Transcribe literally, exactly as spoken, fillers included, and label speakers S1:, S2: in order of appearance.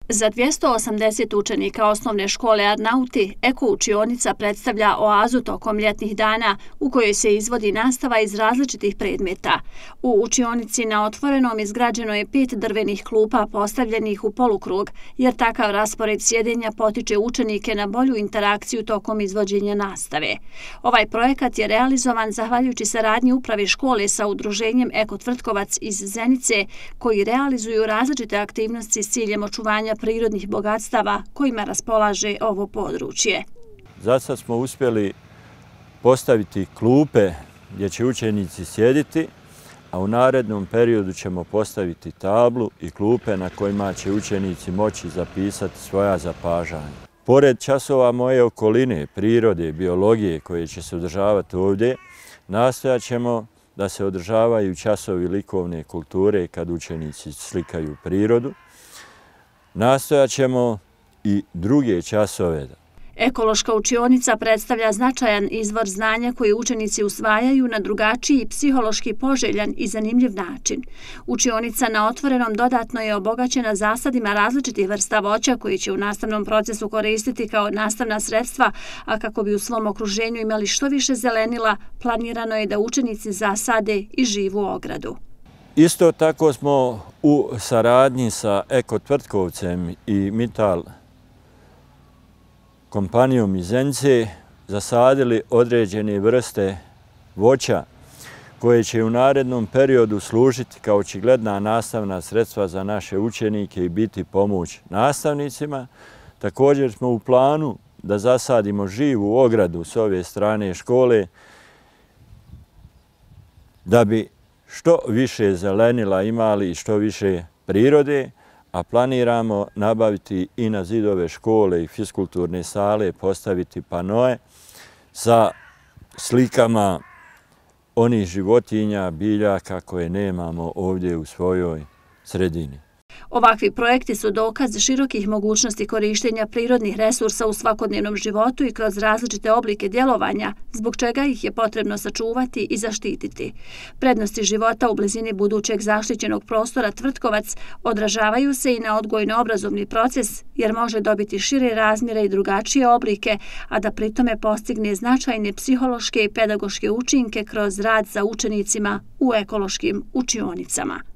S1: Za dvjesto osamdeset učenika osnovne škole Arnauti, eko učionica predstavlja oazu tokom ljetnih dana u kojoj se izvodi nastava iz različitih predmeta. U učionici na otvorenom izgrađeno je pet drvenih klupa postavljenih u polukrug, jer takav raspored sjedenja potiče učenike na bolju interakciju tokom izvođenja nastave. Ovaj projekat je realizovan zahvaljujući saradnji uprave škole sa udruženjem Eko Tvrtkovac iz Zenice, koji realizuju različite aktivnosti s ciljem očuvanja prirodnih bogatstava kojima raspolaže ovo područje.
S2: Za sad smo uspjeli postaviti klupe gdje će učenici sjediti, a u narednom periodu ćemo postaviti tablu i klupe na kojima će učenici moći zapisati svoja zapažanja. Pored časova moje okoline, prirode, biologije koje će se održavati ovdje, nastojat ćemo da se održavaju časovi likovne kulture kad učenici slikaju prirodu. Nastojat ćemo i druge časove.
S1: Ekološka učionica predstavlja značajan izvor znanja koje učenici usvajaju na drugačiji, psihološki poželjan i zanimljiv način. Učionica na otvorenom dodatno je obogaćena zasadima različitih vrsta voća koji će u nastavnom procesu koristiti kao nastavna sredstva, a kako bi u svom okruženju imali što više zelenila, planirano je da učenici zasade i živu ogradu.
S2: Isto tako smo u saradnji sa Eko Tvrtkovcem i Mital kompanijom iz Zenice zasadili određene vrste voća koje će u narednom periodu služiti kao očigledna nastavna sredstva za naše učenike i biti pomoć nastavnicima. Također smo u planu da zasadimo živu ogradu s ove strane škole da bi što više zelenila imali i što više prirode, a planiramo nabaviti i na zidove škole i fiskulturne sale postaviti panoe sa slikama onih životinja, biljaka koje nemamo ovdje u svojoj sredini.
S1: Ovakvi projekti su dokaz širokih mogućnosti korištenja prirodnih resursa u svakodnevnom životu i kroz različite oblike djelovanja, zbog čega ih je potrebno sačuvati i zaštititi. Prednosti života u blizini budućeg zaštićenog prostora Tvrtkovac odražavaju se i na odgojno-obrazovni proces, jer može dobiti šire razmjere i drugačije oblike, a da pritome postigne značajne psihološke i pedagoške učinke kroz rad sa učenicima u ekološkim učionicama.